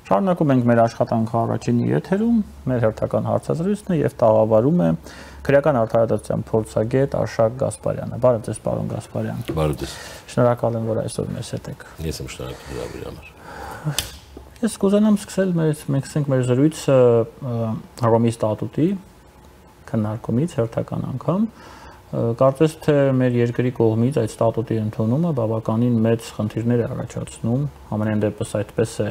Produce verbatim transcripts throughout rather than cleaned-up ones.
Շարունակում ենք մեր աշխատանքը առաջինի եթերում, մեր հերթական հարցազրույցն է եւ տաղավարում է քրեական արդարադատության փորձագետ Արշակ Գասպարյանը։ Բարև ձեզ, պարոն Գասպարյան։ Բարև ձեզ։ Շնորհակալ եմ, որ այսօր մեզ հետ եք։ Ես եմ շնորհակալ հրավերի համար։ Ես կուզենամ սկսել մեր մենք սկսենք մեր զրույցը Հռոմի ստատուտի քննարկումից հերթական անգամ։ Կարծես թե մեր երկրի կողմից այդ ստատուտի ընդունումը բավականին մեծ խնդիրներ է առաջացնում, ամենայն դեպս այդպես է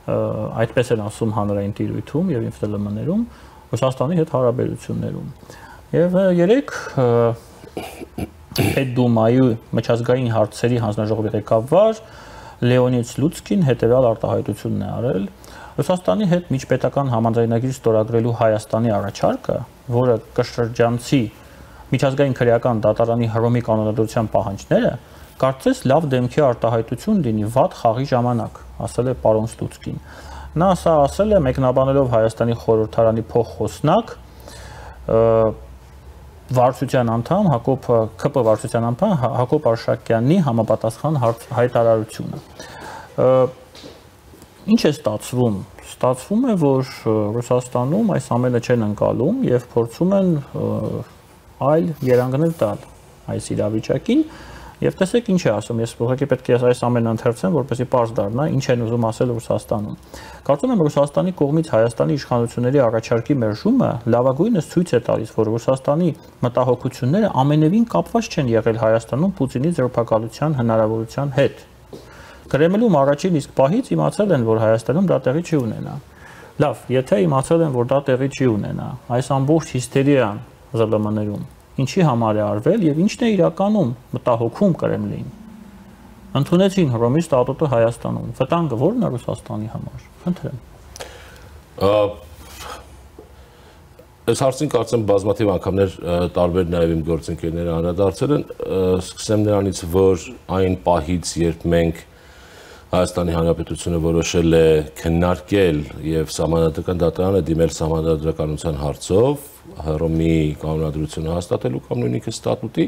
այդպես են ասում հանրային տիրույթում եւ ինֆլումներում Ռուսաստանի հետ հարաբերություններում։ Եվ երեք Պետդումայի միջազգային հարցերի հանձնաժողովի ղեկավար Լեոնիդ Սլուցկին հետևյալ արտահայտությունն է արել. Ռուսաստանի հետ միջպետական համաձայնագիր ստորագրելու Հայաստանի առաջարկը, որը կշրջանցի միջազգային քրեական դատարանի Հռոմի կանոնադրության պահանջները, կարծես լավ դեմքի արտահայտություն լինի վատ խաղի ժամանակ, ասել է պարոն Սլուցկին։ Նա սա ասել է մեկնաբանելով Հայաստանի խորհրդարանի փոխխոսնակ վարչության անդամ Հակոբ ՔՊ վարչության անդամ Հակոբ Արշակյանի համապատասխան հայտարարությունը։ Ինչ է ստացվում։ Ստացվում է, որ Ռուսաստանում այս ամենը չեն ընկալում եւ փորձում են այլ երանգներ տալ այս իրավիճակին եւ տեսեք ինչ է ասում։ Ես ուղղակի պետք է այս ամենը ընթերցեմ, որպեսզի պարզ դառնա ինչ են ուզում ասել Ռուսաստանում։ Կարծում եմ Ռուսաստանի կողմից Հայաստանի իշխանությունների առաջարկի մերժումը լավագույնս ցույց է տալիս, որ Ռուսաստանի մտահոգությունները ամենևին կապված չեն եղել Հայաստանում Պուտինի ձերբակալության հնարավորության հետ։ Կրեմլում առաջին իսկ պահից իմացել են, որ Հայաստանում դա տեղի չի ունենա։ Լավ, եթե իմացել են, որ դա տեղի չի ունենա, այս ամբողջ հիստերիան ԶԼՄ-ներում ինչի համար է արվել եւ ինչն է իրականում մտահոգում Կրեմլին։ Ընդունեցին Հռոմի ստատուտը Հայաստանում։ Վտանգը ո՞րն է Ռուսաստանի համար։ Խնդրեմ։ Այս հարցին կարծեմ բազմաթիվ անգամներ տարբեր նաեւ իմ գործընկերները անդրադարձել են, սկսեմ նրանից, որ այն պահից, երբ մենք Հայաստանի Հանրապետությունը որոշել է քննարկել եւ Սահմանադրական դատարանը դիմել Սահմանադրականության հարցով Հռոմի կանոնադրությունը հաստատելու կամ նույնիսկ ստատուտի,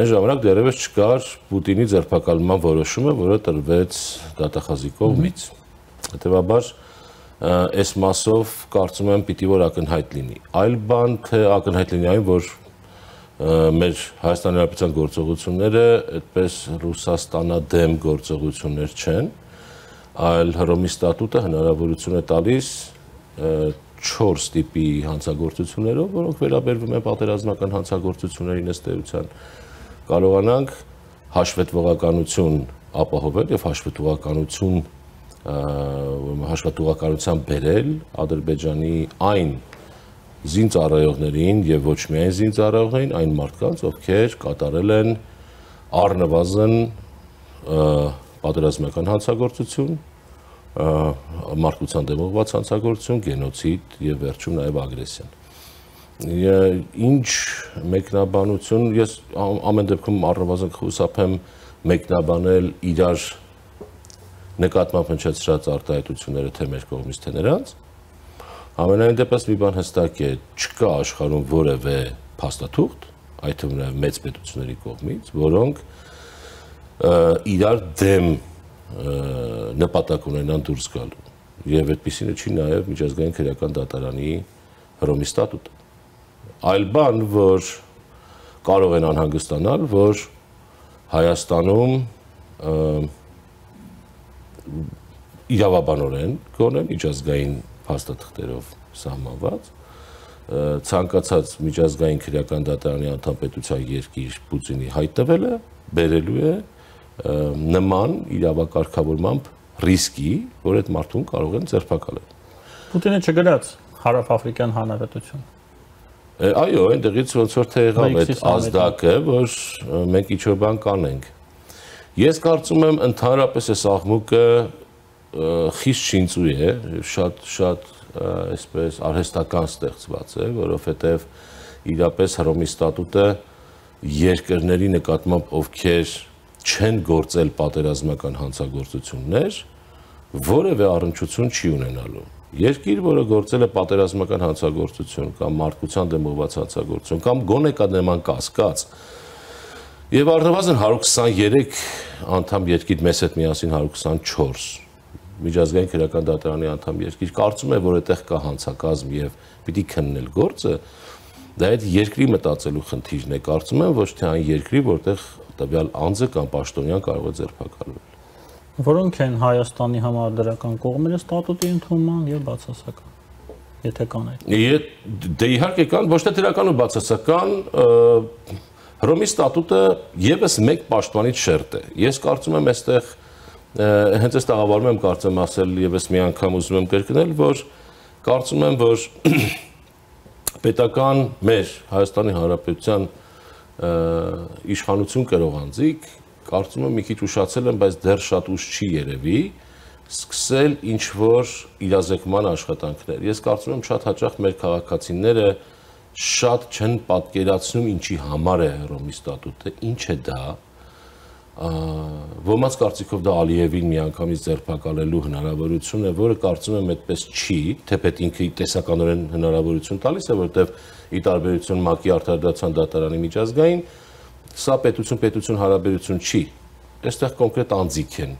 այն ժամանակ դեռևս չկար Պուտինի ձերբակալման որոշումը, որը տրվեց դատախազի կողմից։ Հետևաբար այս մասով կարծում եմ պիտի որ ակնհայտ լինի։ Այլ բան թե ակնհայտ լինի այն, որ մեր Հայաստանի Հանրապետության գործողությունները այդպես Ռուսաստանադեմ գործողություններ չեն, այլ Հռոմի ստատուտը հնարավորություն է տալիս չորս տիպի հանցագործություններով, որոնք վերաբերվում են պատերազմական հանցագործություններին ըստ էության, կարողանանք հաշվետվողականություն ապահովել եւ հաշվետվողականություն հաշվետվողականության բերել Ադրբեջանի այն զինծառայողներին եւ ոչ միայն զինծառայողներին, այն մարդկանց, ովքեր կատարել են առնվազն պատերազմական հանցագործություն, մարդկության դեմ ուղղված հանցագործություն, գենոցիդ եւ վերջում նաեւ ագրեսիան։ Ինչ մեկնաբանություն, ես ամեն դեպքում առնվազն կխուսափեմ մեկնաբանել իրար նկատմամբ հնչեցրած արտահայտությունները թե մեր կողմից, թե նրանց։ Ամենայն դեպս մի բան հստակ է, չկա աշխարհում որևէ փաստաթուղթ, այդ թվում նաև մեծ պետությունների կողմից, որոնք իրար դեմ նպատակ ունենան դուրս գալու։ Եվ այդպիսինը չի նաև միջազգային քրեական դատարանի Հռոմի ստատուտը։ Այլ բան, որ կարող են անհանգստանալ, որ Հայաստանում իրավաբանորեն գոնե միջազգային փաստաթղթերով սահմանված ցանկացած միջազգային քրեական դատարանի անդամ պետության երկիր Պուտինի հայտնվելը բերելու է նման իրավակարգավորմամբ ռիսկի, որ այդ մարդուն կարող են ձերբակալել։ Պուտինը չգրաց Հարավաֆրիկյան Հանրապետություն։ Այո, այնտեղից ոնց որ թե եղավ այդ ազդակը, որ մենք ինչ-որ բան կանենք։ Ես կարծում եմ ընդհանրապես այս աղմուկը խիստ շինծու է, շատ շատ այսպես արհեստական ստեղծված է, որովհետև իրապես Հռոմի ստատուտը երկրների նկատմամբ ովքեր չեն գործել պատերազմական հանցագործություններ, որևէ առնչություն չի ունենալու։ Երկիր, որը գործել է պատերազմական հանցագործություն կամ մարդկության դեմ ուղղված հանցագործություն կամ գոնե կա նման կասկած, եւ առնվազն հարյուր քսաներեք անդամ երկիր մեզ հետ միասին հարյուր քսանչորս միջազգային քրեական դատարանի անդամ երկիր կարծում է, որ այդտեղ կա հանցակազմ եւ պիտի քննել գործը, դա այդ երկրի մտածելու խնդիրն է, կարծում եմ, ոչ թե այն երկրի, որտեղ տվյալ անձը կամ պաշտոնյան կարող է ձերբակալվել։ Որոնք են Հայաստանի համար դրական կողմերը ստատուտի ընդունման եւ բացասական, եթե կան այդ։ Դե իհարկե կան, ոչ թե դրական ու բացասական, Հռոմի ստատուտը եւս մեկ պաշտպանիչ շերտ է։ Ես կարծում եմ, այստեղ հենց այս տաղավարում եմ կարծեմ ասել եւս մի անգամ ուզում եմ կրկնել, որ կարծում եմ, որ պետական մեր Հայաստանի Հանրապետության իշխանություն կրող անձիկ կարծում եմ մի քիչ ուշացել են, բայց դեռ շատ ուշ չի երևի սկսել ինչ որ իրազեկման աշխատանքներ։ Ես կարծում եմ շատ հաճախ մեր քաղաքացիները շատ չեն պատկերացնում ինչի համար է Հռոմի ստատուտը, ինչ է դա, ոմանց կարծիքով դա Ալիևին միանգամից ձերբակալելու հնարավորություն է, որը կարծում եմ այդպես չի, թեպետ ինքը տեսականորեն հնարավորություն տալիս է, որտեղ ի տարբերություն ՄԱԿ-ի Արտադրության դատարանի միջազգային, սա պետություն-պետություն հարաբերություն չի, այստեղ կոնկրետ անձիկ են,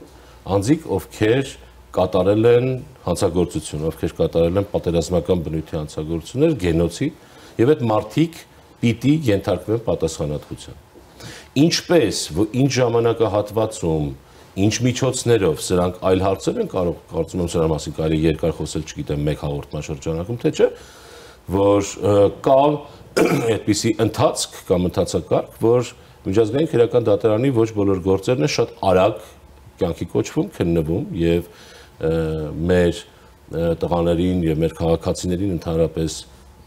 անձիկ, ովքեր կատարել են հանցագործություն, ովքեր կատարել են պատերազմական բնույթի հանցագործություններ, գենոցիդ, եւ այդ մարդիկ պիտի ենթարկվեն պատասխանատվության։ Ինչպես, ինչ ժամանակահատվածում, ինչ միջոցներով սրանք այլ հարցեր են կարող, կարծում եմ սրա մասին կարելի երկար խոսել, չգիտեմ, մեկ հաղորդման շրջանակում թե չէ, որ կա այդպիսի ընթացք կամ ընթացակարգ, որ միջազգային քրեական դատարանի ոչ բոլոր գործերն են շատ արագ կյանքի կոչվում, քննվում եւ մեր տղաներին եւ մեր քաղաքացիներին ընդհանրապես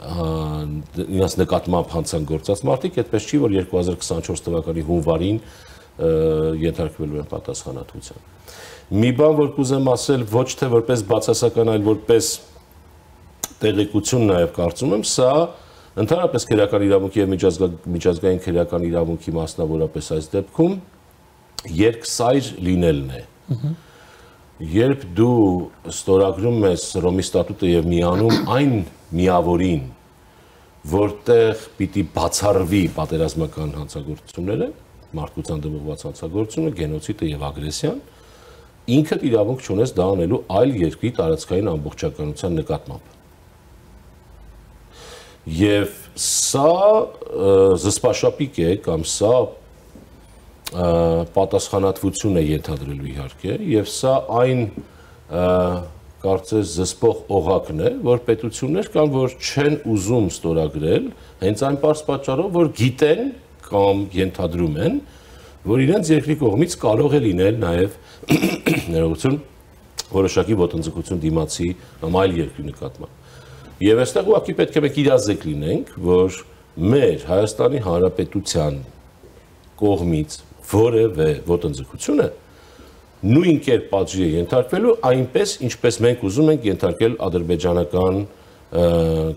իրաց նկատմամբ հանցագործած մարդիկ, այդպես չի, որ երկու հազար քսանչորս թվականի հունվարին ենթարկվելու են պատասխանատվության։ Մի բան, որ կուզեմ ասել, ոչ թե որպես բացասական, այլ որպես տեղեկություն նաև կարծում եմ, սա ընդհանրապես քրեական իրավունքի եւ միջազգային քրեական իրավունքի մասնավորապես այս դեպքում երկսայր լինելն է։ Երբ դու ստորագրում ես Հռոմի ստատուտը եւ միանում այն միավորին, որտեղ պիտի բացառվի պատերազմական հանցագործությունները, մարդկության դիմողված հանցագործությունը, գենոցիդը եւ ագրեսիան, ինքդ իրավունք չունես դա անելու այլ երկրի տարածքային ամբողջականության նկատմամբ։ Եվ սա զսպաշապիկ է կամ սա պատասխանատվություն է ենթադրելու իհարկե, եւ սա այն կարծես զսպող օղակն է, որ պետություններ կան, որ չեն ուզում ստորագրել, հենց այն պարզ պատճառով, որ գիտեն կամ ենթադրում են, որ իրենց երկրի կողմից կարող է լինել նաև ներողություն որոշակի ոտնձգություն դիմացի կամ այլ երկրի նկատմամբ։ Եվ այստեղ ուղղակի պետք է մենք իրազեկ լինենք, որ մեր Հայաստանի Հանրապետության կողմից որևէ ոտնձգությունը նույն կերպ պատժի է ենթարկվելու այնպես, ինչպես մենք ուզում ենք ենթարկել ադրբեջանական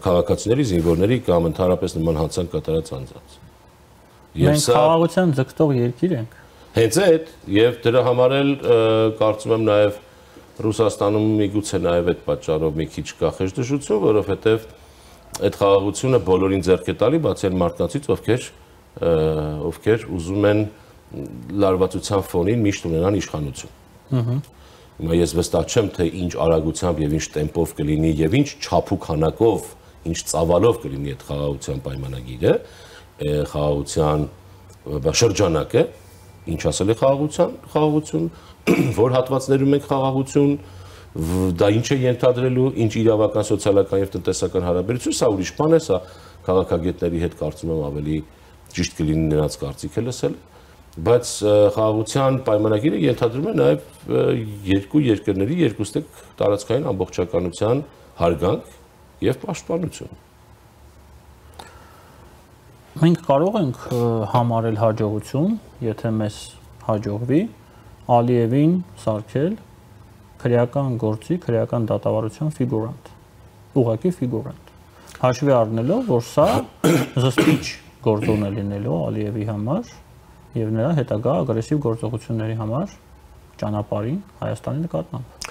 քաղաքացիների, զինվորների կամ ընդհանրապես նման հանցանք կատարած անձանց։ Մենք խաղաղության ձգտող երկիր ենք։ Հենց այդ, եւ դրա համար էլ կարծում եմ նաեւ Ռուսաստանում միգուցե նաեւ այդ պատճառով մի քիչ կա խժդժություն, որովհետեւ այդ խաղաղությունը բոլորին ձեռք է տալի, բացի այն մարդկանցից, ովքեր ովքեր ուզում են լարվածության ֆոնին միշտ ունենան իշխանություն։ Հիմա ես վստահ չեմ, թե ինչ արագությամբ եւ ինչ տեմպով կլինի եւ ինչ չափու քանակով, ինչ ծավալով կլինի այդ խաղաղության պայմանագիրը, խաղաղության շրջանակը, ինչ ասել է խաղաղության, խաղաղություն, որ հատվածներում ենք խաղաղություն, դա ինչ է ենթադրելու, ինչ իրավական, սոցիալական եւ տնտեսական հարաբերություն, սա ուրիշ բան է, սա քաղաքագետների հետ կարծում եմ ավելի ճիշտ կլինի նրանց կարծիքը լսել, բայց խաղաղության պայմանագիրը ենթադրում է նաև երկու երկրների երկուստեք տարածքային ամբողջականության հարգանք եւ պաշտպանություն։ Մենք կարող ենք համարել հաջողություն, եթե մեզ հաջողվի Ալիևին սարքել քրեական գործի, քրեական դատավարության ֆիգուրանտ, ուղղակի ֆիգուրանտ։ Հաշվի առնելով, որ սա զսպիչ գործոն է լինելու Ալիևի համար եւ նրա հետագա ագրեսիվ գործողությունների համար ճանապարհին Հայաստանի նկատմամբ։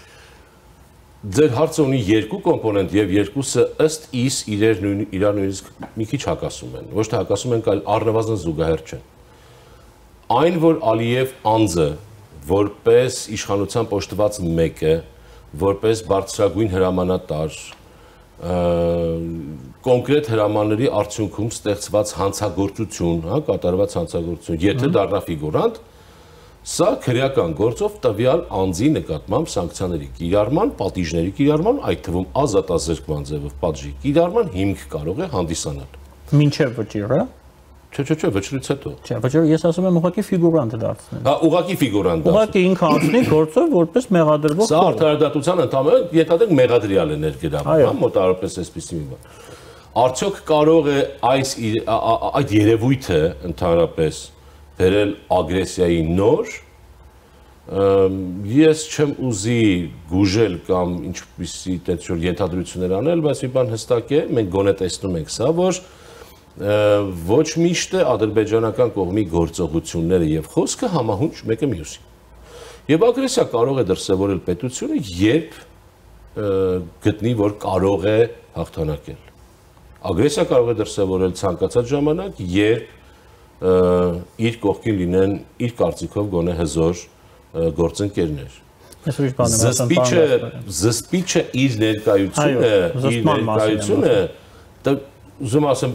Ձեր հարցը ունի երկու կոմպոնենտ եւ երկուսը ըստ իս իրար իրար նույնիսկ մի քիչ հակասում են։ Ոչ թե հակասում են, այլ առնվազն զուգահեռ չեն։ Այն, որ Ալիև անձը որպես իշխանության պոշտված մեկը որպես բարձրագույն հրամանատար կոնկրետ հրամանների արդյունքում ստեղծված հանցագործություն, հա, կատարված հանցագործություն, եթե դառնա ֆիգուրանտ, սա քրեական գործով տվյալ անձի նկատմամբ սանկցիաների կիրառման, պատիժների կիրառման, այդ թվում ազատազրկման ձևով պատժի կիրառման հիմք կարող է հանդիսանալ։ Մինչև վճիռը։ Չէ, չէ, չէ, վճռից հետո։ Չէ, վճիռը ես ասում եմ ուղղակի ֆիգուրանտ դարձնել։ Հա, ուղղակի ֆիգուրանտ դարձնել։ Ուղղակի ինքը անցնի գործով որպես մեղադրվող։ Սա արդարադատության ընդհանրապես ենթադրենք մեղադրյալ է ներգրավում, հա, մոտավորապես այսպիսի մի բան։ Արդյոք կարող է այս այդ երևույթը ընդհանրապես բերել ագրեսիայի նոր։ Ես չեմ ուզի գուժել կամ ինչպիսի տենց ենթադրություններ անել, բայց մի բան հստակ է, մենք գոնե տեսնում ենք սա, որ ոչ միշտ է ադրբեջանական կողմի գործողությունները եւ խոսքը համահունչ մեկը մյուսին։ Եվ ագրեսիա կարող է դրսևորել պետությունը, երբ գտնի, որ կարող է հաղթանակել։ Ագրեսիա կարող է դրսևորել ցանկացած ժամանակ, երբ իր կողքին լինեն իր կարծիքով գոնե հզոր գործընկերներ։ Զսպիչը զսպիչը իր ներկայությունը, իր ներկայությունը, ուզում ասեմ,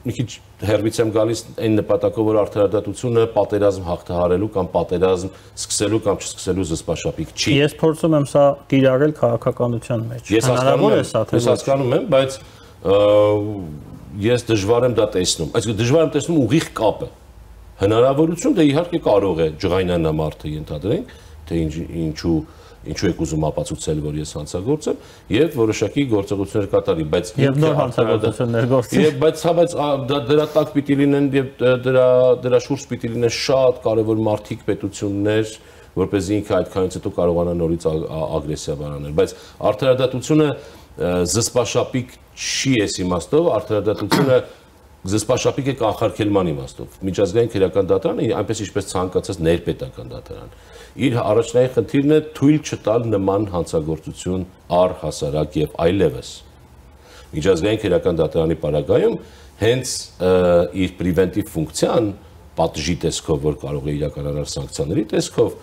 մի քիչ հերվից եմ գալիս այն նպատակով, որ արդարադատությունը պատերազմ հաղթահարելու կամ պատերազմ սկսելու կամ չսկսելու զսպաշապիկ չի։ Ես փորձում եմ սա կիրառել քաղաքականության մեջ։ Ես հասկանում եմ, ես հասկանում եմ, բայց ես դժվար եմ դա տեսնում։ Այսինքն դժվար եմ տեսնում ուղիղ կապը։ Հնարավորություն դե իհարկե կարող է ջղայնանա մարդը ենթադրենք, թե ինչու ինչու եք ուզում ապացուցել, որ ես հանցագործ եմ, եւ որոշակի գործողություններ կատարի, բայց եւ նոր հանցագործություններ գործի։ Եվ բայց հա բայց դրա տակ պիտի լինեն եւ դրա դրա շուրջ պիտի լինեն շատ կարեւոր մարդիկ, պետություններ, որպեսզի ինքը այդքանից հետո կարողանա նորից ագրեսիա բարանել, բայց արդարադատությունը զսպաշապիկ չի էս իմաստով, արդարադատությունը զսպաշապիկ է կանխարգելման իմաստով։ Միջազգային քրեական դատարանը այնպես ինչպես ցանկացած ներպետական դատարան իր առաջնային խնդիրն է թույլ չտալ նման հանցագործություն առհասարակ եւ այլևս։ Միջազգային քրեական դատարանի պարագայում հենց իր պրիվենտիվ ֆունկցիան պատժի տեսքով, որ կարող է իրականանալ սանկցիաների տեսքով,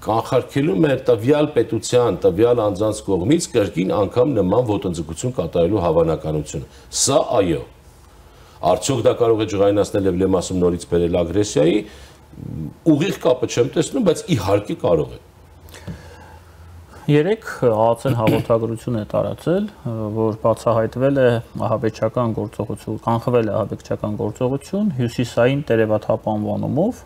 կանխարգելում է տվյալ պետության, տվյալ անձանց կողմից կրկին անգամ նման ոտնձգություն կատարելու հավանականությունը։ Սա այո։ Արդյոք դա կարող է ջղայնացնել եւ լեմ ասում նորից բերել ագրեսիայի, ուղիղ կապը չեմ տեսնում, բայց իհարկե կարող է։ Երեք ԱԱՑ-ն հաղորդագրություն է տարածել, որ բացահայտվել է ահաբեկչական գործողություն, կանխվել է ահաբեկչական գործողություն հյուսիսային տերևաթափ անվանումով,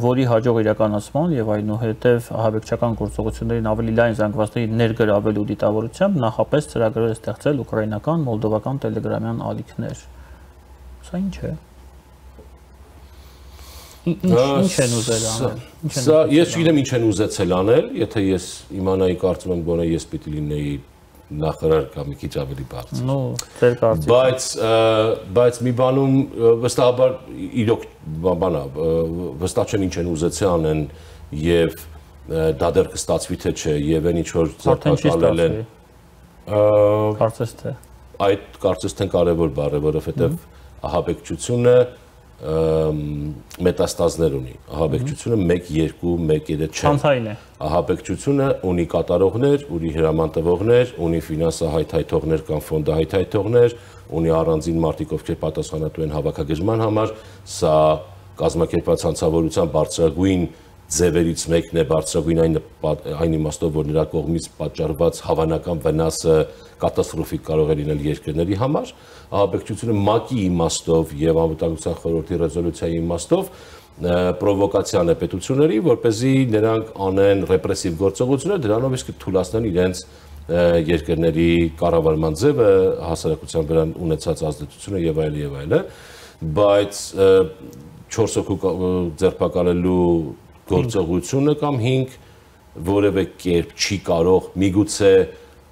որի հաջող իրականացման եւ այնուհետեւ ահաբեկչական գործողություններին ավելի լայն զանգվածների ներգրավելու դիտավորությամբ նախապես ծրագրեր է ստեղծել ուկրաինական, մոլդովական տելեգրամյան ալիքներ։ Սա ինչ է։ Ինչ են ուզել անել։ Սա ես չգիտեմ ինչ են ուզեցել անել, եթե ես իմանայի, կարծում եմ գոնե ես պիտի լինեի նախարար կամ մի քիչ ավելի բարձր։ Նո, ձեր կարծիքով։ Բայց բայց մի բանում վստահաբար իրոք բանա, վստահ չեմ ինչ են ուզեցել անեն եւ դա դեռ կստացվի թե չէ եւ այն ինչ որ ձեռնարկել են։ Կարծես թե։ Այդ կարծես թե կարևոր բառ է, որովհետեւ ահաբեկչությունը մետաստազներ ունի։ Ահաբեկչությունը մեկ, երկու, մեկ, երեք չէ։ Ցանցային է։ Ահաբեկչությունը ունի կատարողներ, ունի հրամանտվողներ, ունի ֆինանսահայթայթողներ կամ ֆոնդահայթայթողներ, ունի առանձին մարդիկ, ովքեր պատասխանատու են հավաքագրման համար, սա կազմակերպված հանցավորության բարձրագույն ձևերից մեկն է, բարձրագույն այն այն իմաստով, որ նրա կողմից պատճառված հավանական վնասը կատաստրոֆիկ կարող է լինել երկրների համար, ահաբեկչությունը ՄԱԿ-ի իմաստով եւ Անվտանգության խորհրդի ռեզոլյուցիայի իմաստով պրովոկացիան է պետությունների, որպեսզի նրանք անեն ռեպրեսիվ գործողություններ, դրանով իսկ թույլատնեն իրենց երկրների կառավարման ձևը, հասարակության վրա ունեցած ազդեցությունը եւ այլ եւ այլը, բայց չորս հոգու ձերբակալելու գործողությունը կամ հինգ որևէ կերպ չի կարող միգուցե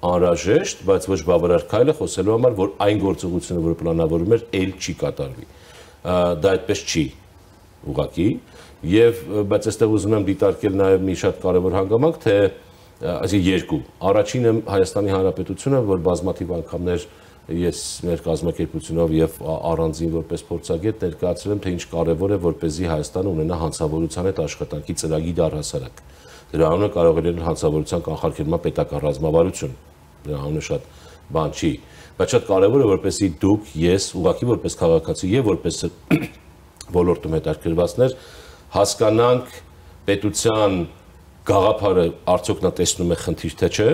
անհրաժեշտ, բայց ոչ բավարար քայլ է խոսելու համար, որ այն գործողությունը, որը պլանավորվում էր, ել չի կատարվի։ Դա այդպես չի ուղղակի, եւ բայց այստեղ ուզում եմ դիտարկել նաեւ մի շատ կարեւոր հանգամանք, թե այսինքն երկու։ Առաջինը Հայաստանի Հանրապետությունը, որ բազմաթիվ անգամներ ես մեր կազմակերպությունով եւ առանձին որպես փորձագետ ներկայացրել եմ, թե ինչ կարեւոր է, որպեսզի Հայաստանը ունենա հանցավորության հետ աշխատանքի ծրագիր առհասարակ։ Դրա անունը կարող է լինել հանցավորության կանխարգելման պետական ռազմավարություն։ Դրա անունը շատ բան չի, բայց շատ կարևոր է որպեսզի դուք, ես, ուղղակի որպես քաղաքացի եւ որպես ոլորտում հետաքրքրվածներ հասկանանք պետության գաղափարը արդյոք նա տեսնում է խնդիր թե չէ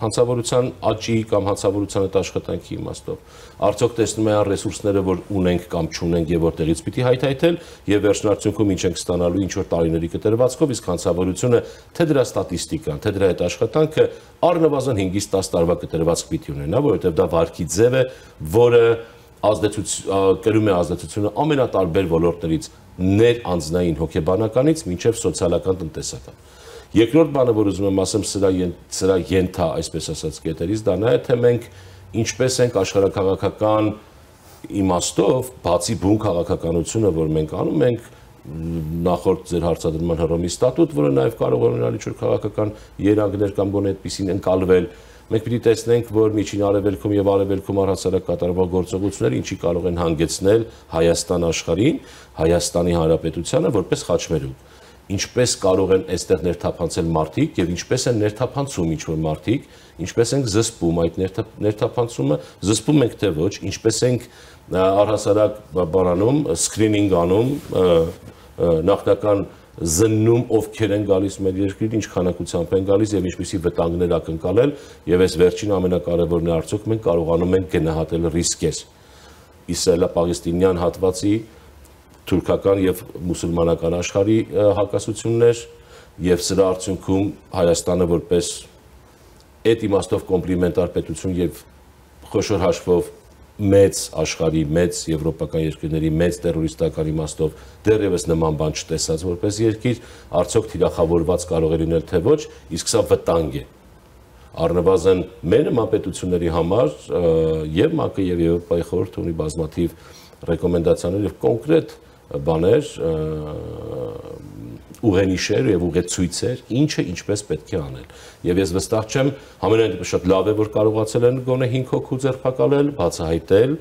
հանցավորության աճի կամ հանցավորության այդ աշխատանքի իմաստով արդյոք տեսնում է այն ռեսուրսները որ ունենք կամ չունենք եւ որտեղից պիտի հայթայթել եւ վերջնարդյունքում ինչ ենք ստանալու ինչ որ տարիների կտրվածքով իսկ հանցավորությունը թե դրա ստատիստիկան թե դրա այդ աշխատանքը առնվազն հինգից տասը տարվա կտրվածք պիտի ունենա որովհետեւ դա վարկի ձև է որը ազդեցություն կրում է ազդեցությունը ամենատարբեր ոլորտներից ներանձնային հոգեբանականից մինչև սոցիալական տնտեսական Երկրորդ բանը, որ ուզում եմ ասեմ, սրա սրա ենթա, այսպես ասած, կետերից, դա նա է, թե մենք ինչպես ենք աշխարհաքաղաքական իմաստով, բացի բուն քաղաքականությունը, որ մենք անում ենք, նախորդ ձեր հարցադրման հռոմի ստատուտ, որը նաև կարող է ունենալ ինչ-որ քաղաքական երանգներ կամ գոնե այդպիսին ընկալվել, մենք պիտի տեսնենք, որ միջին արևելքում եւ արևելքում առհասարակ կատարվող գործողությունները ինչի կարող են հանգեցնել Հայաստան աշխարհին, Հայաստանի Հանրապետությանը որպես խաչմերուկ ինչպես կարող են այստեղ ներթափանցել մարդիկ եւ ինչպես են ներթափանցում ինչ-որ մարդիկ, ինչպես ենք զսպում այդ ներթափանցումը, զսպում ենք թե ոչ, ինչպես ենք առհասարակ բանանում, սկրինինգ անում, նախնական զննում ովքեր են գալիս մեր երկրին, ինչ քանակությամբ են գալիս եւ ինչպիսի վտանգներ ակնկալել եւ այս վերջին ամենակարևորն է արդյոք մենք կարողանում ենք գնահատել ռիսկեր իսրայելա-պաղեստինյան հատվածի թուրքական եւ մուսուլմանական աշխարհի հակասություններ եւ սրա արդյունքում Հայաստանը որպես այդ իմաստով կոմպլիմենտար պետություն եւ խոշոր հաշվով մեծ աշխարհի մեծ եվրոպական երկրների մեծ terroristական իմաստով դեռևս նման բան չտեսած որպես երկիր արդյոք թիրախավորված կարող է լինել թե ոչ իսկ սա վտանգ է առնվազն մեր նման պետությունների համար եւ ՄԱԿ-ը եւ Եվրոպայի խորհուրդը ունի բազմաթիվ ռեկոմենդացիաներ եւ կոնկրետ բաներ ուղենիշեր եւ ուղեցույցեր ինչը ինչպես պետք է անել եւ ես վստահ չեմ համենայն դեպս շատ լավ է որ կարողացել են գոնե հինգ հոգու ձերբակալել բացահայտել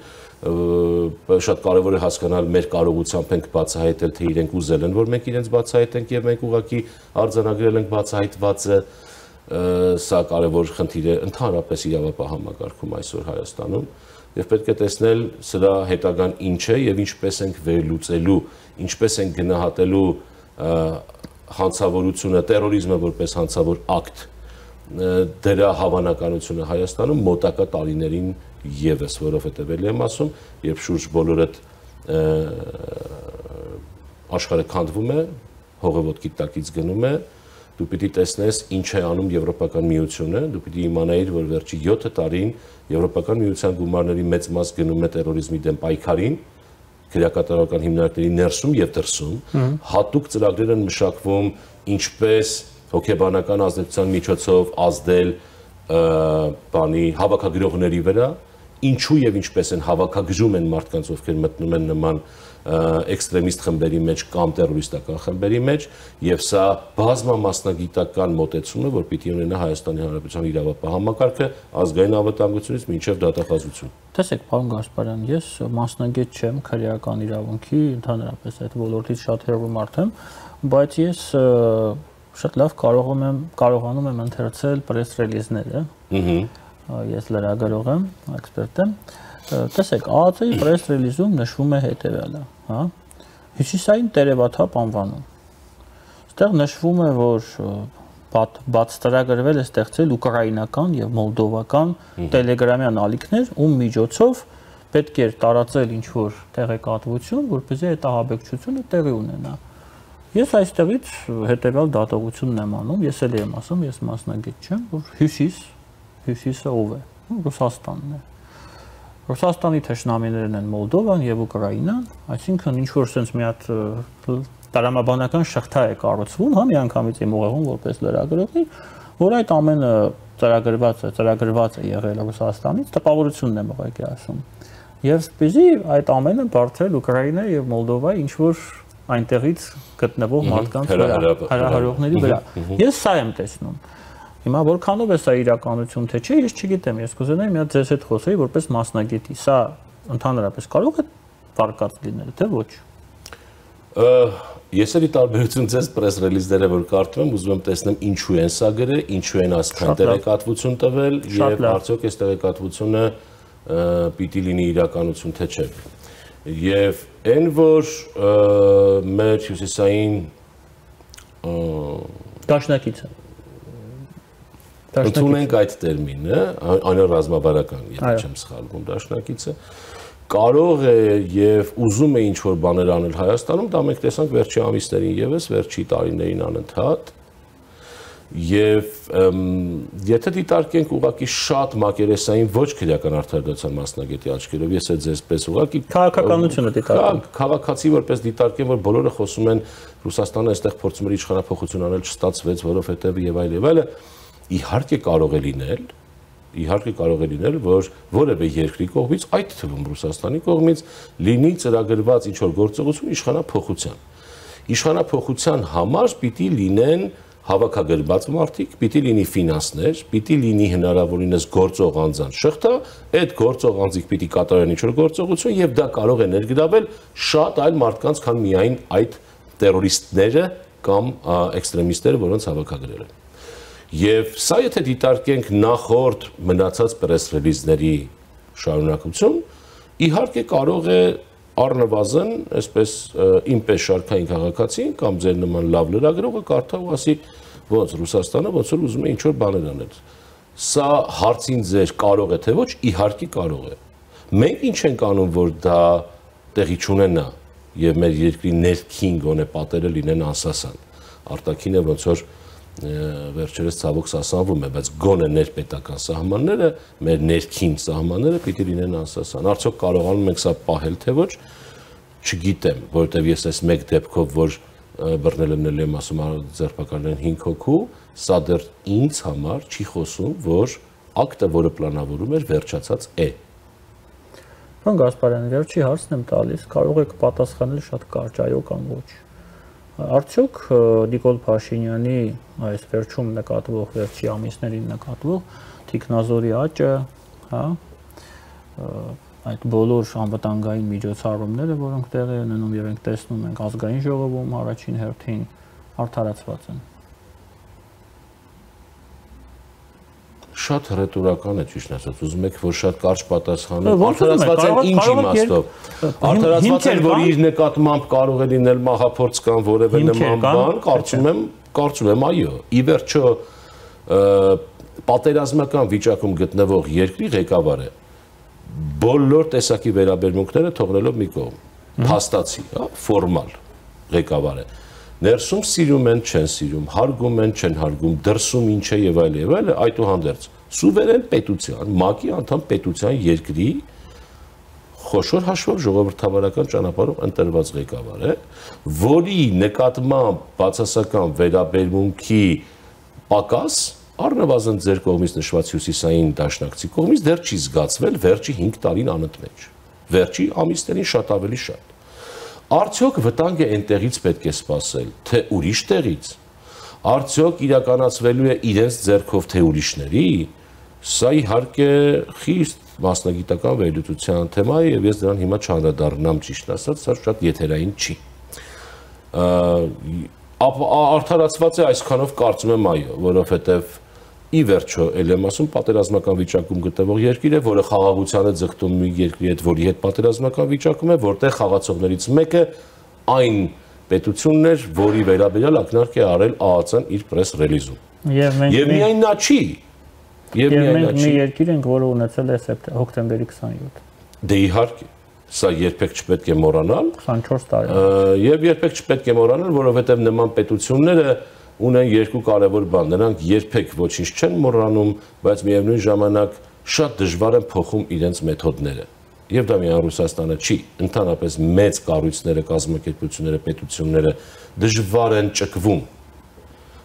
շատ կարեւոր է հասկանալ մեր կարողությամբ ենք բացահայտել թե իրենք ուզել են որ մենք իրենց բացահայտենք եւ մենք ուղղակի արձանագրել ենք բացահայտվածը սա կարեւոր խնդիր է ընդհանրապես իրավապահ համակարգում այսօր Հայաստանում եւ պետք է տեսնել սրա հետագան ինչ է եւ ինչպես ենք վերլուծելու, ինչպես ենք գնահատելու հանցավորությունը, terrorism-ը որպես հանցավոր ակտ դրա հավանականությունը Հայաստանում մոտակա տարիներին եւս, որովհետեւ ելի եմ ասում, երբ շուրջ բոլորդ աշխարհը քանդվում է, հողը ոտքի տակից գնում է դու պիտի տեսնես ինչ է անում Եվրոպական միությունը, դու պիտի իմանայիր, որ վերջի յոթ տարին Եվրոպական միության գումարների մեծ մաս գնում է terrorism-ի դեմ պայքարին, քրեակատարական հիմնարկների ներսում եւ դրսում, հատուկ ծրագրեր են մշակվում, ինչպես հոգեբանական ազդեցության միջոցով ազդել բանի հավաքագրողների վրա, ինչու եւ ինչպես են հավաքագրում են մարդկանց, ովքեր մտնում են նման էքստրեմիստ խմբերի մեջ կամ terroristական խմբերի մեջ եւ սա բազմամասնագիտական մոտեցում է որ պիտի ունենա Հայաստանի Հանրապետության իրավապահ համակարգը ազգային անվտանգությունից մինչեւ դատախազություն։ Տեսեք, պարոն Գասպարյան, ես մասնագետ չեմ քրեական իրավունքի, ընդհանրապես այդ ոլորտից շատ հեռու մարդ եմ, բայց ես շատ լավ կարողում եմ կարողանում եմ ընթերցել press release-ները։ Ահա ես լրագրող եմ, էքսպերտ եմ։ Տեսեք, ԱԱԾ-ի press release-ում նշվում է հետևյալը, հա։ Հյուսիսային տերևաթափ անվանում։ Այստեղ նշվում է, որ բաց ծրագրվել է ստեղծել ուկրաինական եւ մոլդովական տելեգրամյան ալիքներ, ում միջոցով պետք է տարածել ինչ-որ տեղեկատվություն, որպեսզի այդ ահաբեկչությունը տեղի ունենա։ Ես այստեղից հետևյալ դատողությունն եմ անում, ես էլ եմ ասում, ես մասնագետ չեմ, որ հյուսիս, հյուսիսը ով է, Ռուսաստանն է։ Ռուսաստանի թշնամիներն են Մոլդովան եւ Ուկրաինան, այսինքն ինչ որ sense մի հատ տրամաբանական շղթա է կառուցվում, հա միանգամից եմ ուղեղում որպես լրագրողի, որ այդ ամենը ծրագրված է, ծրագրված է եղել Ռուսաստանից, տպավորությունն եմ ուղղակի ասում։ Եվ սպիզի այդ ամենը բարձրել Ուկրաինա եւ Մոլդովայի ինչ որ այնտեղից գտնվող մարդկանց վրա, հարահարողների վրա։ Ես սա եմ տեսնում։ Հիմա որքանով է սա իրականություն թե չէ, ես չգիտեմ, ես կուզենայի մի հատ ձեզ հետ խոսեի որպես մասնագետի։ Սա ընդհանրապես կարող է վարկած լինել, թե ոչ։ Ես էլի տարբերություն ձեզ պրես ռելիզները որ կարդում եմ, ուզում եմ տեսնեմ ինչու են սա գրել, ինչու են ասքան տեղեկատվություն տվել եւ արդյոք այս տեղեկատվությունը պիտի լինի իրականություն թե չէ։ Եվ այն որ մեր հյուսիսային դաշնակիցը ընդունենք այդ տերմինը, անրազմավարական, եթե չեմ սխալվում, դաշնակիցը կարող է եւ ուզում է ինչ-որ բաներ անել Հայաստանում, դա մենք տեսանք վերջի ամիսներին եւս, վերջի տարիներին անընդհատ։ Եվ եթե դիտարկենք ուղղակի շատ մակերեսային ոչ քրեական արդարադատության մասնագետի աչքերով, ես էլ ձեզպես ուղղակի քաղաքականությունը դիտարկեմ։ Քաղաքացի որպես դիտարկեմ, որ բոլորը խոսում են Ռուսաստանը այստեղ փորձում էր իշխանափոխություն անել, չստացվեց, որովհետեւ եւ այլ եւ այլը, իհարկե կարող է լինել Իհարկե կարող է լինել, որ որևէ երկրի կողմից, այդ թվում Ռուսաստանի կողմից, լինի ծրագրված ինչ-որ գործողություն իշխանափոխության։ Իշխանափոխության համար պիտի լինեն հավաքագրված մարդիկ, պիտի լինի ֆինանսներ, պիտի լինի հնարավորինս գործող անձանց շղթա, այդ գործող անձիկ պիտի կատարեն ինչ-որ գործողություն եւ դա կարող է ներգրավել շատ այլ մարդկանց, քան միայն այդ տերորիստները կամ էքստրեմիստները, որոնց հավաքագրել են։ Եվ սա եթե դիտարկենք նախորդ մնացած պրես ռելիզների շարունակություն, իհարկե կարող է առնվազն, այսպես ինպես շարքային քաղաքացին կամ ձեր նման լավ լրագրողը կարդա ու ասի, ոնց Ռուսաստանը ոնց որ ուզում է ինչ-որ բաներ անել։ Սա հարցին ձեր կարող է թե ոչ, իհարկե կարող է։ Մենք ինչ ենք անում, որ դա տեղի չունենա եւ մեր երկրի ներքին գոնե պատերը լինեն անսասան։ Արտաքինը ոնց որ վերջերս ցավոք սասանվում է, բայց գոնե ներպետական սահմանները, մեր ներքին սահմանները պիտի լինեն անսասան։ Արդյոք կարողանում ենք սա պահել թե ոչ, չգիտեմ, որովհետև ես այս մեկ դեպքով, որ բռնել եմ եմ ասում ձերբակալեն հինգ հոգու, սա դեռ ինձ համար չի խոսում, որ ակտը, որը պլանավորում էր, վերջացած է։ Պարոն Գասպարյան, վերջի հարցն եմ տալիս, կարող եք պատասխանել շատ կարճ, այո կամ ոչ։ Արդյոք Նիկոլ Փաշինյանի այս վերջում նկատվող, վերջի ամիսներին նկատվող թիկնազորի աճը, հա, այդ բոլոր անվտանգային միջոցառումները, որոնք տեղի են ունենում եւ ենք տեսնում ենք ազգային ժողովում առաջին հերթին արդարացված են։ Շատ հռետորական է ճիշտ ասած, ուզում եք որ շատ կարճ պատասխանեմ, արդարացված են ինչ իմաստով։ Արդարացված են, որ իր նկատմամբ կարող է լինել մահափորձ կամ որևէ նման բան, կարծում եմ, կարծում եմ այո։ Ի վերջո պատերազմական վիճակում գտնվող երկրի ղեկավարը բոլոր տեսակի վերաբերմունքները թողնելով մի կողմ, փաստացի, հա, ֆորմալ ղեկավար է։ Ներսում սիրում են, չեն սիրում, հարգում են, չեն հարգում, դրսում ինչ է եւ այլ եւ այլ, այդուհանդերձ սուվերեն պետության, ՄԱԿ-ի անդամ պետության երկրի խոշոր հաշվով ժողովրդավարական ճանապարհով ընտրված ղեկավար է, որի նկատմամբ բացասական վերաբերմունքի պակաս առնվազն ձեր կողմից նշված հյուսիսային դաշնակցի կողմից դեռ չի զգացվել վերջի հինգ տարին անընդմեջ, վերջի ամիսներին շատ ավելի շատ։ Արդյոք վտանգը այնտեղից պետք է սպասել, թե ուրիշ տեղից, արդյոք իրականացվելու է իրենց ձեռքով թե ուրիշների, սա իհարկե խիստ մասնագիտական վերլուծության թեմա է եւ ես դրան հիմա չանդրադառնամ ճիշտ ասած, սա շատ եթերային չի։ Արդարացված է այսքանով կարծում եմ այո, որովհետեւ ի վերջո ել եմ ասում պատերազմական վիճակում գտնվող երկիր է, որը խաղաղությանը ձգտում մի երկրի հետ, որի հետ պատերազմական վիճակում է, որտեղ խաղացողներից մեկը այն պետությունն էր, որի վերաբերյալ ակնարկ է արել ԱԱԾ-ն իր պրես ռելիզում։ Եվ միայն նա չի։ Եվ միայն նա չի։ Մի երկիր ենք, որը ունեցել է հոկտեմբերի քսանյոթ։ Դե իհարկե, սա երբեք չպետք է մոռանալ։ քսանչորս տարի։ Եվ երբեք չպետք է մոռանալ, որովհետև նման պետությունները ունեն երկու կարևոր բան, նրանք երբեք ոչինչ չեն մոռանում, բայց միևնույն ժամանակ շատ դժվար են փոխում իրենց մեթոդները։ Եվ դա միայն Ռուսաստանը չի, ընդհանրապես մեծ կառույցները, կազմակերպությունները, պետությունները դժվար են ճկվում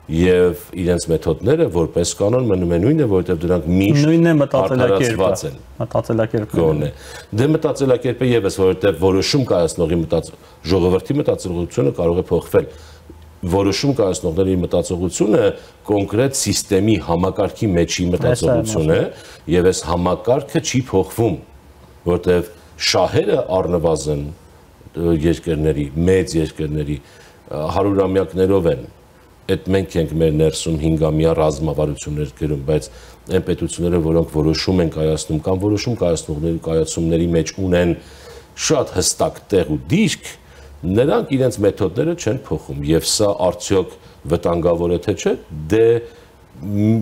եւ իրենց մեթոդները որպես կանոն մնում են նույնը, որովհետեւ դրանք միշտ արդարացված են։ Մտածելակերպը։ Դե մտածելակերպը եւս, որովհետեւ որոշում կայացնողի մտած ժողովրդի մտածողությունը կարող է փոխվել։ Որոշում կայացնողների մտածողությունը կոնկրետ սիստեմի համակարգի մեջի մտածողություն է եւ այս համակարգը չի փոխվում, որտեղ շահերը առնվազն երկրների, մեծ երկրների հարյուրամյակներով են այդ մենք ենք մեր ներսում հինգամյա ռազմավարություններ գրում, բայց այն պետությունները, որոնք որոշում են կայացնում կամ որոշում կայացնողների կայացումների մեջ ունեն շատ հստակ տեղ ու դիրք, նրանք իրենց մեթոդները չեն փոխում եւ սա արդյոք վտանգավոր է թե չէ, դե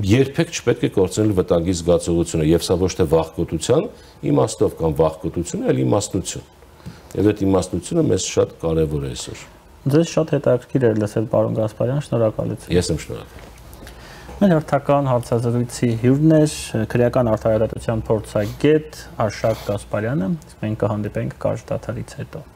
երբեք չպետք է կորցնել վտանգի զգացողությունը եւ սա ոչ թե վախկոտության իմաստով կամ վախկոտություն, այլ իմաստնություն։ Եվ այդ իմաստնությունը մեզ շատ կարեւոր է այսօր։ Ձեզ շատ հետաքրքիր էր լսել, պարոն Գասպարյան, շնորհակալություն։ Ես եմ շնորհակալ։ Մեր հերթական հարցազրույցի հյուրն էր քրեական արդարադատության փորձագետ Արշակ Գասպարյանը, մենք կհանդիպենք կարճ դադարից հետո։